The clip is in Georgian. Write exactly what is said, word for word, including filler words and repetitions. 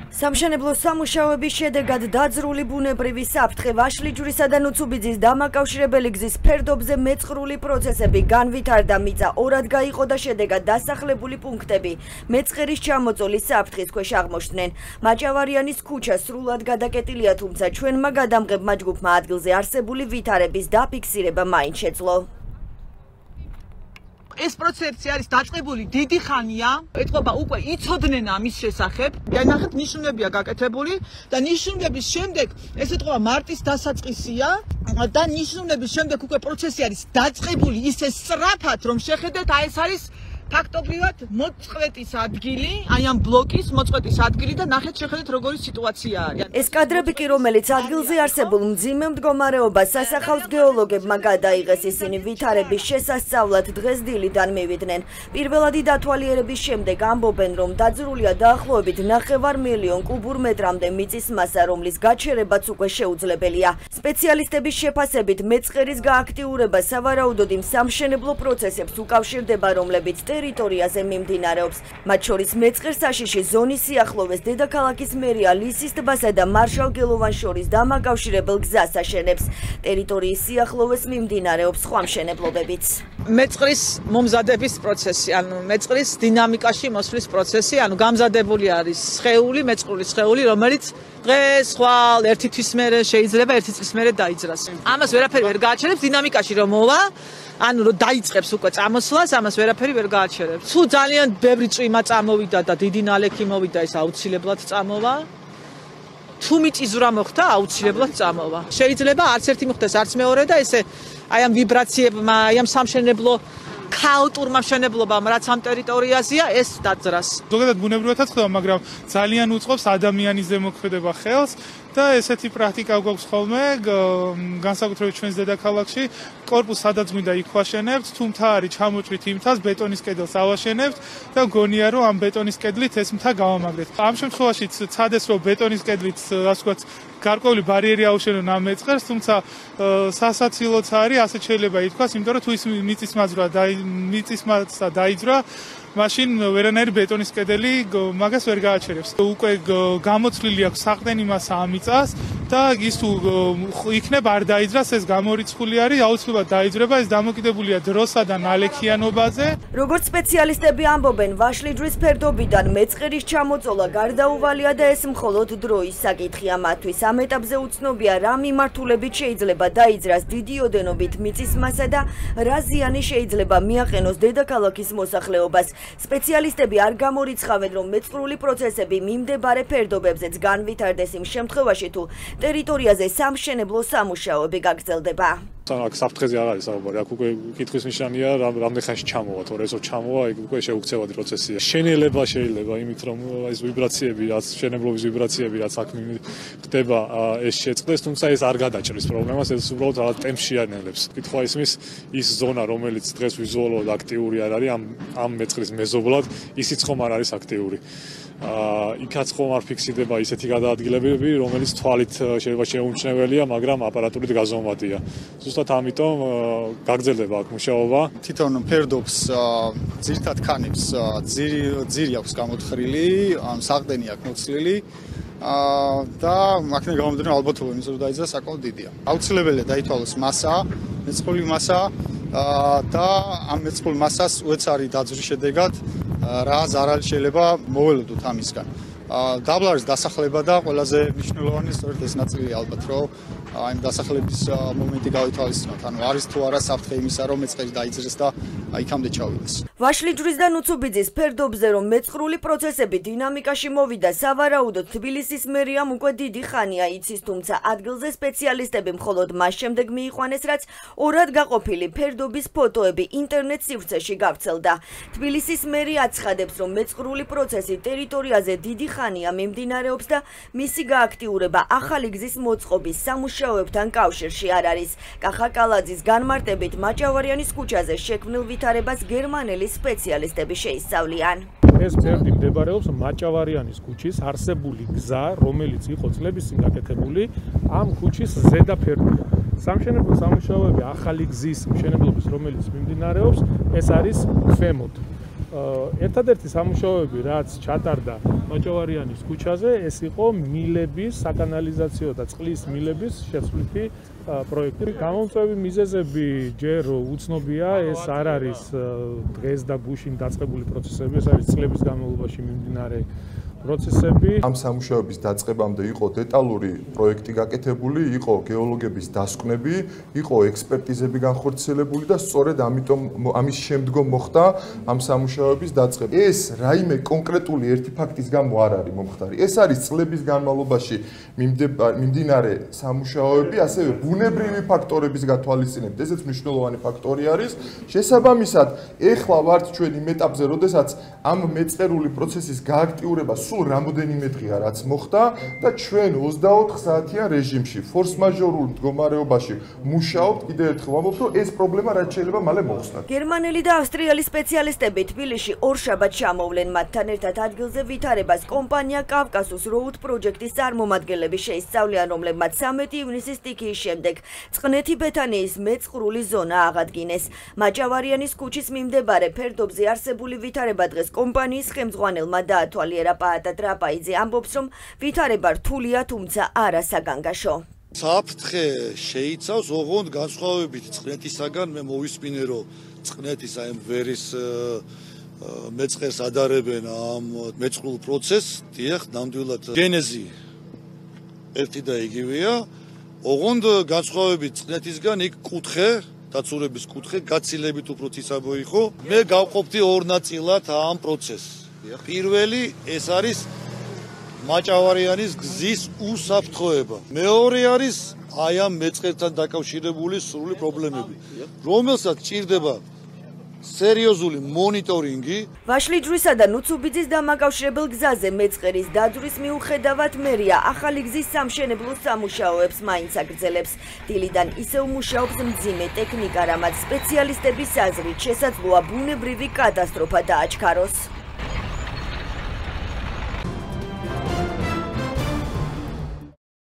სამშენებლო სამუშაოების შედეგად დაძრული ბუნებრივი საფრთხე, ვაშლიჯვრისა და ნუცუბიძის დამაკავშირებელი გზის ფერდობზე მეწყრული პროცესები განვითარდა, მიწა ორად გაიყო და შედეგად დასახლებული პუნქტები მეწყერის ჩამოწოლის საფრთხის ქვეშ აღმოჩნდნენ. მაჭავარიანის ქუჩა სრულად გადაკეტილია, თუმცა ჩვენმა გადამღებმა ჯგუფმა ადგილზე არსებული ვითარების დაფიქსირება მაინც შეძლო. ეს პროცესი არის დაწყებული დიდი ხანია, ეთყობა უკვე იცოდნენ ამის შესახებ. ნახეთ, ნიშნებია გაკეთებული და ნიშნების შემდეგ ეს ეთყობა მარტის დასაწყისია და ნიშნების შემდეგ უკვე პროცესი არის დაწყებული ისე სწრაფად, რომ შეხედეთ, აი ეს არის ფაქტობრივად მოწყვეტის ადგილი, აი ამ ბლოკის მოწყვეტის ადგილი და ნახეთ შეხედეთ როგორი სიტუაცია არის. ეს კადრები კი რომელიც ადგილზე არსებულ მძიმე მდგომარეობას სასახავს გეოლოგებმა გადაიღეს, ისინი ვითარების შესასწავლად დღეს დილიდან მივიდნენ. პირველადი დათვალიერების შემდეგ ამბობენ, რომ დაძრულია დაახლოებით ნახევარ მილიონ კუბურ მეტრამდე მიწის მასა, რომლის გაჩერებაც უკვე შეუძლებელია. სპეციალისტების შეფასებით მეწყერის გააქტიურება სავარაუდოდ იმ სამშენებლო პროცესებს უკავშირდება, რომლებიც ტერიტორიაზე მიმდინარეობს. მათ შორის მეწყერ საშიში ზონის სიახლოვეს დედაქალაქის მერია ლისის ტბასა და მარშალ გელოვანს შორის დამაკავშირებელ გზას აშენებს. ტერიტორიის სიახლოვეს მიმდინარეობს სხვა მშენებლობებიც. მეწყრის მომზადების პროცესი, ანუ მეწყრის დინამიკაში მოსვლის პროცესი, ანუ გამზადებული არის სხეული, მეწყრული სხეული, რომელიც დღეს ხვალ ერთი თვის მერე შეიძლება ერთი წლის მერე დაიძრას. ამას ვერაფერი ვერ გააჩერებს დინამიკაში რომ მოვა, ანუ რომ დაიწყებს უკვე წამოსვლას, ამას ვერაფერი ვერ გააჩერებს. თუ ძალიან ბევრი წვიმა წამოვიდა და დიდი ნალექი მოვიდა, ეს აუცილებლად წამოვა. თუ მიწისძვრა მოხდა, აუცილებლად წამოვა. შეიძლება არც ერთი მოხდეს, არც მეორე და ესე აი ამ ვიბრაციებმა, აი ამ სამშენებლო ქაოტურმა მშენებლობამ, რაც ამ ტერიტორიაზეა, ეს დაძრას. ზოგადად ბუნებრივადაც ხდება, მაგრამ ძალიან უწყობს ადამიანის ზემოქმედება ხელს და ესეთი პრაქტიკა გვაქვს ხოლმე, განსაკუთრებით ჩვენს დედაქალაქში, კორპუსს სადაც მინდა იქ ვაშენებთ, თუ მთა არის ჩამოჭრით იმ მთას, ბეტონის კედელს ავაშენებთ და გონია რომ ამ ბეტონის კედლით ეს მთა გავამაგრეთ. ამ შემთხვევაშიც ცადეს რომ ბეტონის კედლით, ასე ვთქვათ, გარკვეული ბარიერი აუშენონ ამ მეწყერს, თუმცა სასაცილოც არის, ასე შეიძლება ითქვას, იმიტომ რომ თუ ის მიწისმაძვრა და მიწისმაცა დაიძრა, მაშინ ვერანაირი ბეტონის კედელი მაგას ვერ გააჩერებს. უკვე გამოცვლილი აქვს საყრდენი მასა ამ მიწას და ის თუ იქნებ არ დაიძრას, ეს გამორიცხული არის, აუცილებლად დაიძრება, ეს დამოკიდებულია დროსა და ნალექიანობაზე. როგორც სპეციალისტები ამბობენ, ვაშლიჯვრის ფერდობიდან მეწყერის ჩამოწოლა გარდაუვალია და ეს მხოლოდ დროის საკითხია მათთვის. ამ ეტაპზე უცნობია, რა მიმართულებით შეიძლება დაიძრას დიდი ოდენობით მიწის მასა და რა ზიანი შეიძლება მიაყენოს დედაქალაქის მოსახლეობას. სპეციალისტები არ გამორიცხავენ, რომ მეწყრული პროცესები მიმდებარე ფერდობებზეც განვითარდეს იმ შემთხვევაში, თუ ტერიტორიაზე სამშენებლო სამუშაოები გაგრძელდება. აქ საფრთხეზე არ არის საუბარი, აქ უკვე კითხვის ნიშანია, რამდენი ხანში ჩამოვა, თორე ესო ჩამოვა, იქ უკვე შეუქცევადი პროცესია. შენელება შეიძლება იმით, რომ ეს ვიბრაციები, რაც შენებლობის ვიბრაციები, რაც აქ ხდება, ეს შეწყდეს, თუმცა ეს არ გადაჭრის პრობლემას, ეს უბრალოდ რაღაც ტემპში ანელებს. კითხვა ისმის, ის ზონა, რომელიც დღეს ვიზუალურად აქტიური არ არის, ამ ამ მეწყრის მეზობლად, ისიც ხომ არ არის აქტიური. იქაც ხომ არ ფიქსირდება ისეთი გადაადგილებები, რომელიც თვალით შეიძლება შეუმჩნეველია, მაგრამ აპარატურით გაზომვადია. ზუსტად ამიტომ გაგრძელდება აქ მუშაობა. თვითონ ფერდობს ძირთად ქანებს ძირი ძირი აქვს გამოთხრილი, ან საყრდენი აქვს მოცლილი და აქედან გამომდინარე ალბათობა იმის რომ დაიძრა საკმაოდ დიდია. აუცილებელია დაითვალოს მასა, მეწყრული მასა და ამ მეწყრულ მასას უეცარი დაძვრის შედეგად რა ზარალი შეიძლება მოველოდოთ ამისგან. დაბლარის დასახლება და ყველაზე მნიშვნელოვანი სწორედ ეს ნაწილია ალბათ, რომ აი ამ დასახლების მომენტი გავითვალისწინოთ. ანუ არის თუ არა საფრთხე იმისა, რომ მეწყერი დაიძრეს და იქამდე ჩავიდეს. ვაშლიჯვრის და ნუცუბიძის ფერდობზე რომ მეწყრული პროცესები დინამიკაში მოვიდა, სავარაუდოდ თბილისის მერიამ უკვე დიდი ხანია იცის, თუმცა ადგილზე სპეციალისტები მხოლოდ მას შემდეგ მიიყვანეს, რაც ორად გაყოფილი ფერდობის ფოტოები ინტერნეტ სივრცეში გავრცელდა. თბილისის მერია აცხადებს, რომ მეწყრული პროცესი ტერიტორიაზე დიდი ხანია მიმდინარეობს და მისი გააქტიურება ახალი გზის მოწყობის სამუშაოებთან კავშირში არ არის. კახა კალაძის განმარტებით, მაჭავარიანის ქუჩაზე შექმნილ ვითარებას გერმანელი სპეციალისტები შეისწავლიან. ეს ფერდი მდებარეობს მაჭავარიანის ქუჩის არსებული გზა, რომელიც იყო წლების წინ გაკეთებული, ამ ქუჩის ზედა ფერდია. სამშენებლო სამუშაოები ახალი გზის მშენებლობის, რომელიც მიმდინარეობს, ეს არის ქვემოთ. ერთადერთი სამუშაოები, რაც ჩატარდა მაჭავარიანის ქუჩაზე, ეს იყო მილების, საკანალიზაციო და წყლის მილების შეცვლითი პროექტი. გამომწვევი მიზეზები ჯერ უცნობია, ეს არ არის დღეს და გუშინ დაწყებული პროცესები, ეს არის წლების განმავლობაში მიმდინარე პროცესები. ამ სამუშაოების დაწყებამდე იყო დეტალური პროექტი გაკეთებული, იყო გეოლოგების დასკვნები, იყო ექსპერტიზები განხორციელებული და სწორედ ამიტომ ამის შემდგომ მოხდა ამ სამუშაოების დაწყება. ეს რაიმე კონკრეტული ერთი ფაქტის გამო არ არის მომხდარი. ეს არის წლების განმავლობაში მიმდინარე სამუშაოები, ასევე ბუნებრივი ფაქტორების გათვალისწინებით. ესეც მნიშვნელოვანი ფაქტორი არის. შესაბამისად, ეხლა ვართ ჩვენ იმ ეტაპზე, როდესაც ამ მეწყერული პროცესის გააქტიურება სულ რამოდენიმე დღეა რაც მოხდა და ჩვენ ოცდაოთხ საათიან რეჟიმში ფორს-მაჟორულ მდგომარეობაში მუშაობთ. კიდევ ერთხელ ვამბობ, რომ ეს პრობლემა რაც შეიძლება მალე მოხსნათ. გერმანელი და ავსტრიელი სპეციალისტები თბილისში ორშაბათს ჩამოვლენ. მათთან ერთად ადგილზე ვითარებას კომპანია კავკასუს როუდ პროჯექტის წარმომადგენლები შეისწავლიან, რომლებმაც სამეტი ივნისის სტიქიის შემდეგ წყნეთი ბეთანიის მეწყრული ზონა აღადგინეს. მაჭავარიანის ქუჩის მიმდებარე ფერდობზე არსებული ვითარება დღეს კომპანიის ხელმძღვანელმა დაათვალიერა. პაატა ტრაპაიძე ამბობს, რომ ვითარება რთულია, თუმცა არა საგანგაშო. საფრთხე შეიცავს ოღონდ განსხვავებით წყნეთისაგან. მე მოვისმინე, რომ წყნეთის აი ვერის მეწყერს ადარებენ ამ მეწყრულ პროცესს. დიახ, ნამდვილად გენეზი ერთი და იგივეა. ოღონდ განსხვავებით წყნეთისგან იქ კუთხე, დაცურების კუთხე გაცილებით უფრო ციცაბო იყო. მე გავყოფდი ორ ნაწილად ამ პროცესს. პირველი ეს არის მაჭავარიანის გზის უსაფრთხოება. მეორე არის აი ამ მეწყერთან დაკავშირებული სრული პრობლემები, რომელსაც ჭირდება სერიოზული მონიტორინგი. ვაშლიჯვრისა და ნუცუბიძის დამაკავშირებელ გზაზე მეწყერის დაძვრის მიუხედავად მერია ახალი გზის სამშენებლო სამუშაოებს მაინც აგრძელებს. დილიდან ისევ მუშაობს მძიმე ტექნიკა, რამაც სპეციალისტების აზრით შესაძლოა ბუნებრივი კატასტროფა დააჩქაროს.